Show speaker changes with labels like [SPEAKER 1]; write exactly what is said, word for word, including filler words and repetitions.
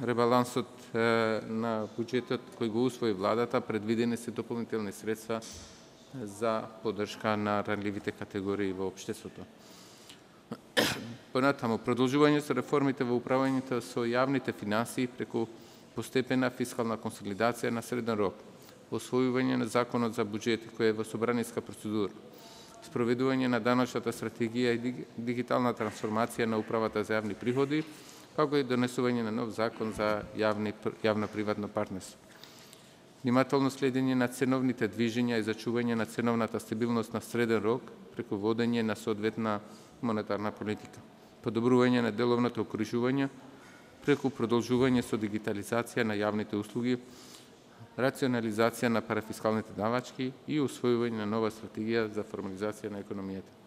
[SPEAKER 1] ребалансот на буџетот кој го усвои владата предвидени се дополнителни средства за поддршка на ранливите категории во општеството. Понатаму, продолжување со реформите во управувањето со јавните финансии преку постепена фискална консолидација на среден рок, освојување на законот за буџет кој е во собраниска процедура, спроведување на даночната стратегија и дигитална трансформација на управата за јавни приходи, како и донесување на нов закон за јавни, јавно-приватно партнерство. Внимателно следење на ценовните движења и зачување на ценовната стабилност на среден рок преку водење на соодветна монетарна политика. Подобрување на деловното окружување преку продолжување со дигитализација на јавните услуги, рационализација на парафискалните давачки и усвојување на нова стратегија за формализација на економијата.